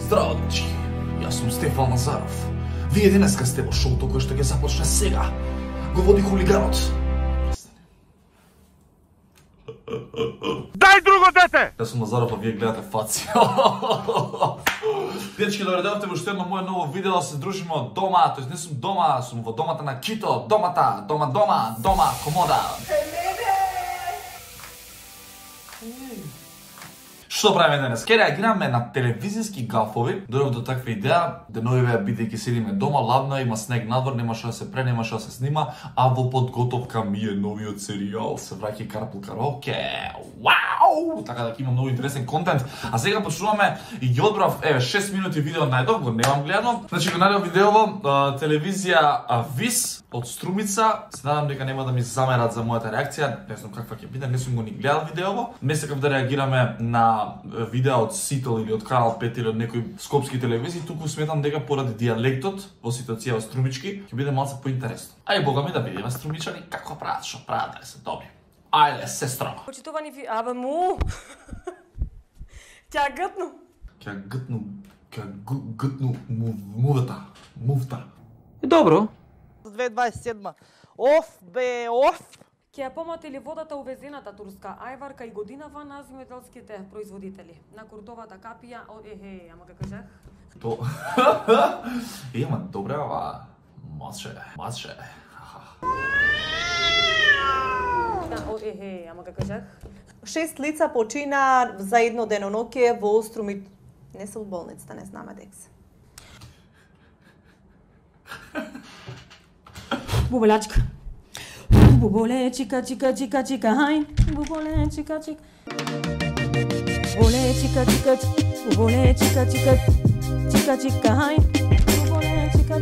Здраво, дечки. Јас сум Стефан Лазаров. Вие денеска сте во шоуто кое што ќе започне сега. Го води хулиганот. Дај друго дете! Јас сум Лазаров, а вие гледате Фаци. Дечки, добре дојдовте во уште едно моје ново видео, се дружиме од дома, тоест не сум дома, сум во домата на Кито, дома, комода. Што правиме денес? Ке реагираме на телевизиски гафови. Дојдов до таква идеја, деновиве бидејќи седиме дома, ладно е, има снег надвор, немаше да се немаше да се снима, а во подготовка ми е новиот серијал, се враќа Карпул Караоке. Вау! Така да има многу интересен контент. А сега почнуваме и ги одбрав, 6 минути видео најдов, го немам гледано. Значи го најдов видеово, телевизија ВИС од Струмица. Се надам дека нема да ми замерат за мојата реакција, не знам каква ќе биде, не сум го ни гледал видеово. Не сакав да реагираме на видеа од Сител или од Канал 5 или од некои скопски телевизии, туку сметам дека поради дијалектот во ситуација во Струмички ќе биде малку поинтересно. Ај бога ми да видиме струмичани како прават, што прават, да се добри. Ајде, сестра. Почитувани абе му. Ќе гътну мувта. Добро. 2027. Оф бе, оф. Ќе ја помотили водата увезената турска ајварка и годинава на земјоделските производители. На куртовата капија, ама како кажах? То. Ема добре, ава. Маче. Ама како кажах? 6 лица почина за едно деноноќе во Струмит. Не се од болницата, не знаме дека се. Буболячка. Буболе, чика, хај. Буболе, чика. Буболе, чика, буболе, чика, хај. Буболе, чика.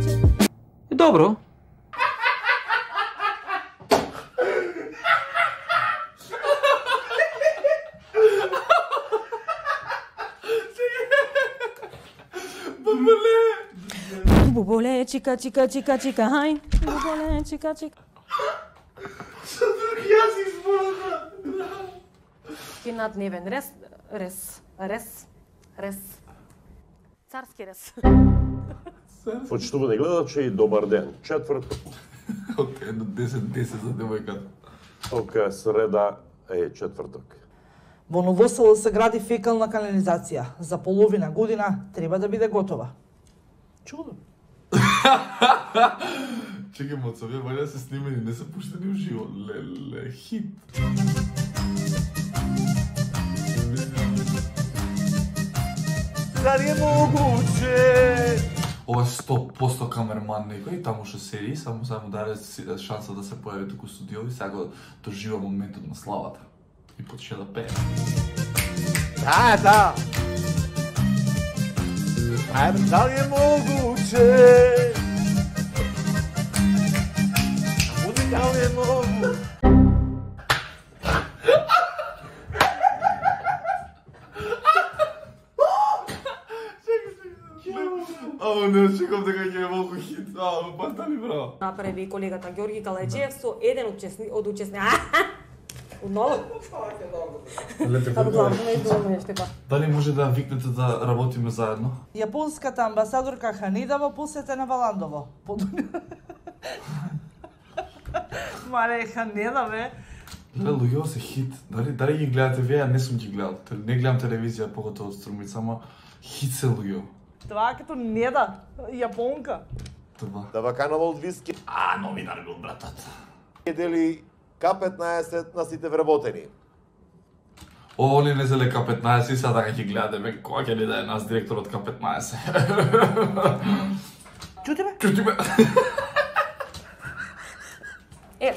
Добро. Буболе, чика, хај. Буболе, чика. Кинат-невен рес. Царски рес. Почитувани гледачи, добар ден. Четврток. Од 1 до 10 за девојката. Ока среда е четврток. Во Новосело се гради фекална канализација. За половина година треба да биде готова. Чудо. Чекай, моцовија, вајде да се снимени, не се пуштени уживо. Леле, хит. Дали е могуче? Ова е 100% камерман некој, таму што седи, само му даде шанса да се појави туку студиови, сега го дожива моментот на славата. И почне да пее. Да. Дали е могуче? Дали е могуче? Не, чекам дека ќе е малку хит. Батали, браво. Направи колегата Ѓорги Калајџиев со еден од учесни. Одново? Дали може да викнете да работиме заедно? Јапонската амбасадорка Ханеда посетена во Ландово. Мале Ханеда, бе. Леле, луѓето се хит. Дали ги гледате вие, не сум ги гледал. Не гледам телевизија, поготово од Струмица, ама хит се луѓето. Това като Неда, јапонка. Това. Да ваканова од виски. Новинар бил братот. Дели К15 на сите вработени. Они не зеле К15 и сега ќе гледате, бе, кога ќе ни даде нас директор од К15. Чути ме?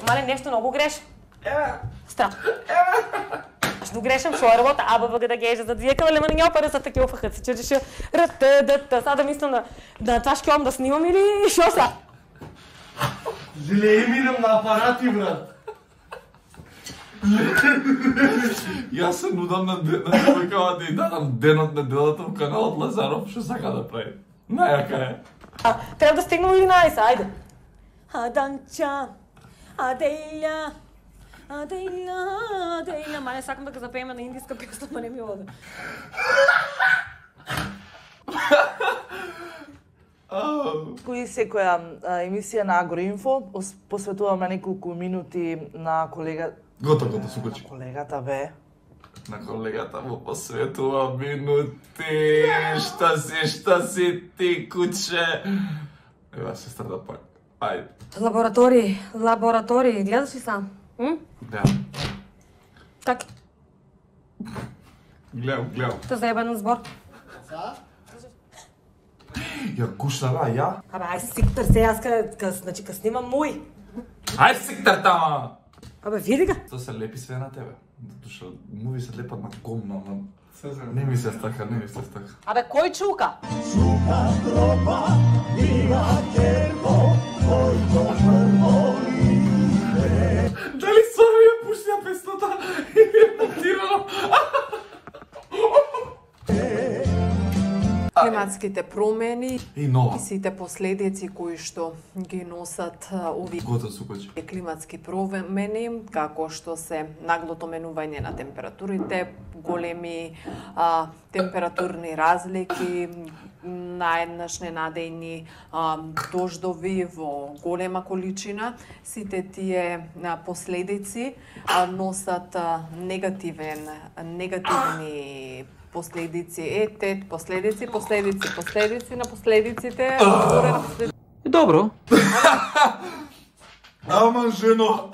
Мале, нешто многу греш. Страх. Што грешам што работа, АБВГ да геже за две кале, ама не опара за такива фахат се чудеше. Сега да мислам да това шкјом да снимам или шо са? Зеле имидам на апарати, брат. Јас се нудам на девојкава да ја дадам денот неделата во каналот Лазаров, што сака да прави. Најака е. Треба да стигнем 11, ајде. Аданча, Аделја, мале сакам да го запееме на индиска песна, ма не ми оде. и секоја емисија на Агроинфо посветуваме неколку минути на Готово, сукачи. колегата бе. На колегата му посветува минути. Шта си ти, куче? Ева, сестра да пак. Ајде. Лаборатории, гледаш ли сам? Да. Как? Гледам. Те заебан збор. Ја гушнала, ја? Абе, ај сиктар се, јас значи ка снимам мој. Ајде сиктар тама! Абе, види га. Тоа се лепи све на тебе. Душа, муви се лепат на гомна, не ми се стака. Абе, кој чука? Дали сами ја пушти ја песната или е монтирано? Климатските промени И нова. и сите последици кои што ги носат овие Готов сукачи. климатски промени, како што се наглото менување на температурите, големи температурни разлики, наеднаш ненадејни дождови во голема количина, сите тие последици носат негативни последици, последици на последиците, горе на последиците. Добро. Ама, жено!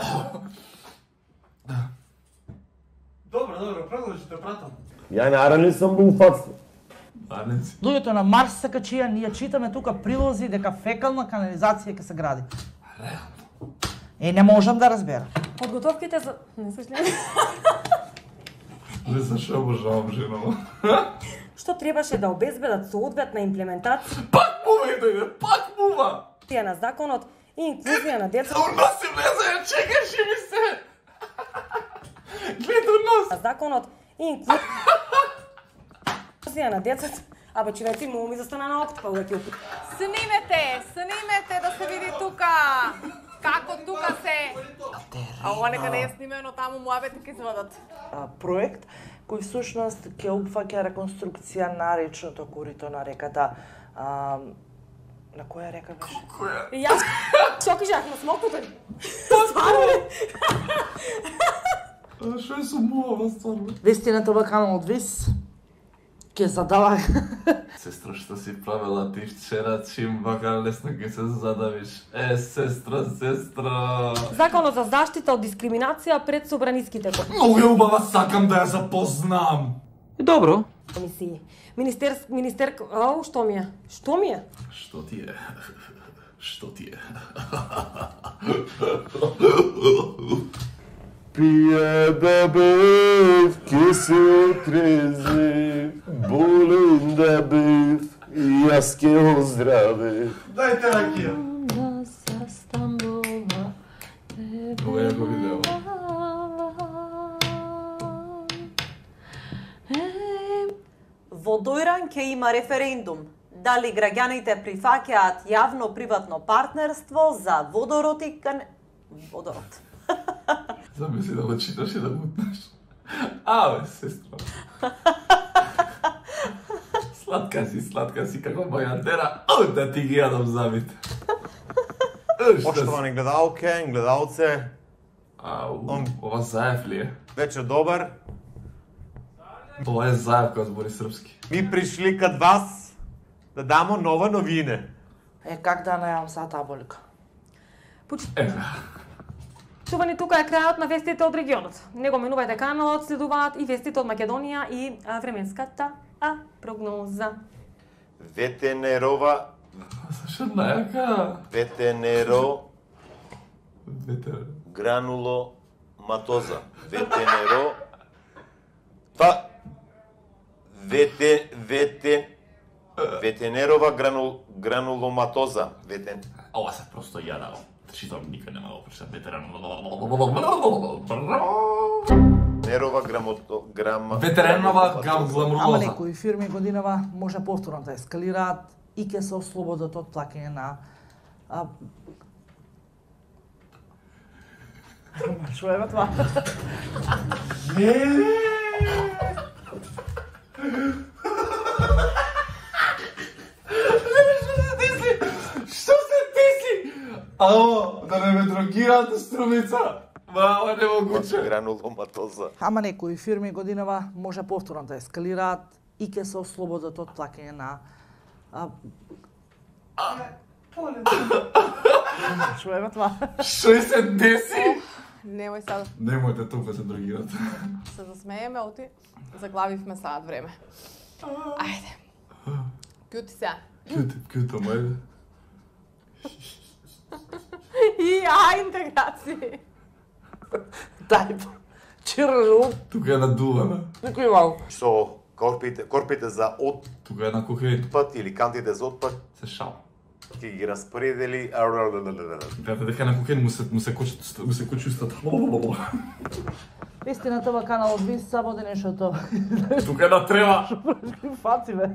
Добро, продолжите, пратам. Ја наранен сум во уфатство. Арненци. Луѓето на Марс се качија, ние читаме тука прилози дека фекална канализација ќе се гради. Не можам да разберам. Подготовките за... Не се шлем. Не се шо обожавам, жено. Што требаше да обезбедат соодветна имплементација Пак мува! на законот и инклузија на децата Уноси влезаја, чекаше ми се! Гледа унос! на законот и инклузија на децата. Абе, човеци, му ми застана на окт, па uvek Снимете да се види тука. Како тука се? А ова нека не е снимено таму, муабети ќе извадат. Проект кој всушност ќе опфаќа реконструкција на речното корито на реката. На која река беше? И јас што кажах на смокутен. Шо е со мува, стварно? Вестината во каналот Вис ќе задава. Сестро, што си правила ти вчера, чим вака лесно ќе се задавиш? Сестро. Законот за заштита од дискриминација пред собраниските Многу е убава, сакам да ја запознам. Добро. комисии. Ау, што ми е? Што ми е? Што ти е? Што ти е? Пија да бев, ке се отрези, болен да бев, јас ке оздравев. Дајте ракија. Ова е го видео. Во Дојран ќе има референдум. Дали граѓаните прифаќаат јавно-приватно партнерство за водород и водород. Замисли да го читаш и да мутнеш. Абе, сестро. Сладка си како бајандера. Ау, да ти ги јадам замите. Поштовани гледалке, гледалце, Ау, ова заев ли е? вечер добар. Ова е заев кој збори српски. Ми пришли кад вас да дамо нова новине. Как да најавам саа таболика? Чувани, тука е крајот на вестите од регионот. Не го менувајте каналот, следуваат и вестите од Македонија и временската прогноза. Ветенерова, Зашо најака? ветенеро, грануло матоза. Ветенеро, ветенерова грануломатоза. Ова се просто јада. Читам, никој нема го прочитам ветеран. Нерова Ветеренова Ама гламуроза. некои фирми годинава може повторно да ескалираат и ќе се ослободат од плаќање на Што е тоа? Што Ало, да не ме дрогираат струмица. Мама, не могуче. Грануломатоза. Ама некои фирми годинава може повторно да ескалираат и ќе се ослободат од плаќање на чуеме това. Што се деси? Немој сега Немојте толку се дрогирате. се засмееме, оти заглавивме саат време. Ајде. Кјути се. Кјуто, мајде. И интеграција. Дај, чирлу, Тука е надувана. некој мал. Со корпите за Тука е на кокаин. отпад или кантите за отпад Се шал. ќе ги распредели. Гледате дека на кокаин му се кочи устата. Вистината во каналот Вис само денешното. Тука е на трева. Фаци бе.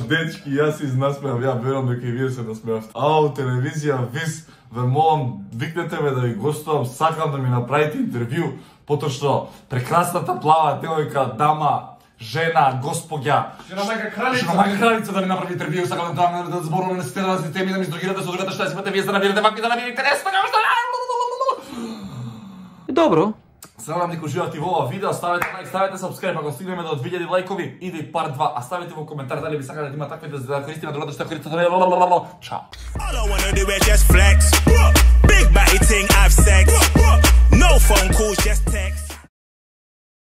Дечки, јас се изнасмеав, ја верувам дека и вие се насмеавте. Телевизија Вис, ве молам, викнете ме да ви гостувам, сакам да ми направите интервју, потоа што прекрасната плава девојка, дама, жена, господја, Шиномајка кралица да ми направи интервју, сакам да зборуваме на сите разни теми, да ми издрогирате со другата што ја сипате, вие се набирате вакви да набирате интересно, како што... Добро. Сакам дека уживате во ова видео, ставете лайк, ставете subscribe, ако стигнеме до 2000 лајкови, иде и part 2, а ставете во коментар дали би сакале да има такви да користиме другата што користите. Чао. All I wanna do is just flex. Big batty ting, have sex. No phone calls, just text.